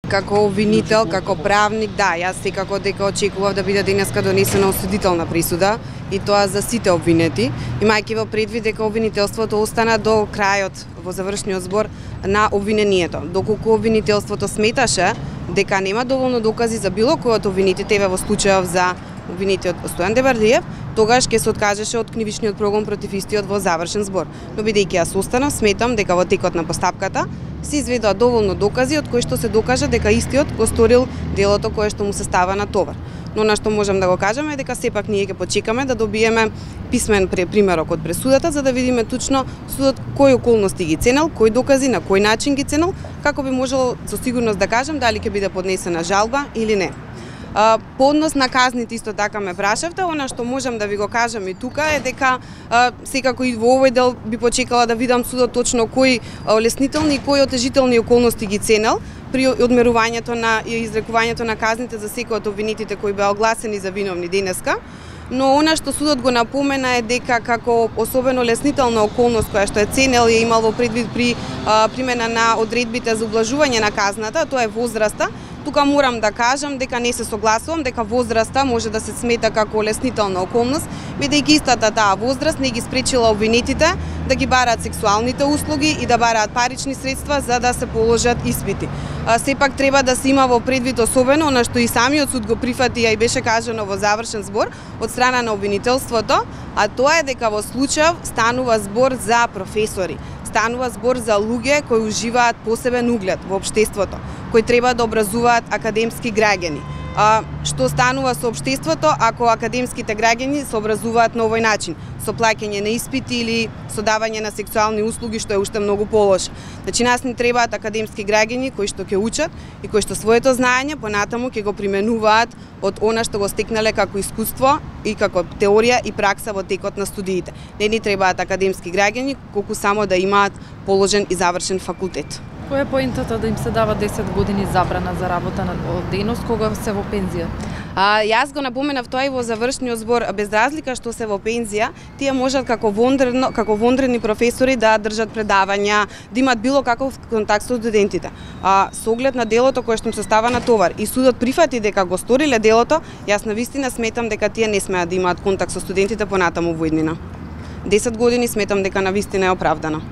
Како обвинител, како правник, да, јас секако дека очекував да биде денеска донесена осудителна присуда и тоа за сите обвинети, имајќи во предвид дека обвинителството остана до крајот во завршниот збор на обвинението. Доколку обвинителството сметаше дека нема доволно докази за било кој од обвинетите, во случајов за обвинетиот Стојан Дебардиев, тогаш ќе се откажеше од кривичниот прогон против истиот во завршен збор. Но бидејќи јас останав, сметам дека во текот на постапката се изведоа доволно докази од кои што се докажа дека истиот го сторил делото кое што му се става на товар. Но на што можам да го кажеме е дека сепак ние ќе почекаме да добиеме писмен примерок од пресудата за да видиме точно судот кои околности ги ценел, кои докази, на кој начин ги ценел, како би можело со сигурност да кажем дали ќе биде поднесена жалба или не. По однос на казните исто така ме прашавте, она што можам да ви го кажам и тука е дека секако и во овој дел би почекала да видам судот точно кои олеснителни и кои отежителни околности ги ценел при одмерувањето на и изрекувањето на казните за секој од обвинетите кои беа огласени за виновни денеска. Но она што судот го напомена е дека како особено олеснителна околност која што е ценел и имал во предвид при примена на одредбите за ублажување на казната, тоа е возраста. Тука морам да кажам дека не се согласувам дека возраста може да се смета како олеснителна околност, бидејќи истата таа возраст не ги спречила обвинетите да ги бараат сексуалните услуги и да бараат парични средства за да се положат испити. Сепак треба да се има во предвид особено она што и самиот суд го прифати, а и беше кажано во завршен збор од страна на обвинителството, а тоа е дека во случај станува збор за професори. Станува збор за луѓе кои уживаат посебен углед во општеството, кои треба да образуваат академски граѓани. Што станува со општеството ако академските граѓани се образуваат на овој начин, со плаќање на испити или со давање на сексуални услуги, што е уште многу полошо. Значи нас ни требаат академски граѓани кои што ќе учат и кои што своето знаење понатаму ќе го применуваат од она што го стекнале како искуство и како теорија и пракса во текот на студиите. Не ни требаат академски граѓани колку само да имаат положен и завршен факултет. Која е поентата да им се дава 10 години забрана за работа на дејност кога се во пензија? Јас го напоменав тоа и во завршниот збор, без разлика што се во пензија, тие можат како вонредни професори да држат предавања, да имат било каков контакт со студентите. Со оглед на делото кое што им се става на товар и судот прифати дека го сториле делото, јас навистина сметам дека тие не смеат да имаат контакт со студентите понатаму во иднина. 10 години сметам дека навистина е оправдано.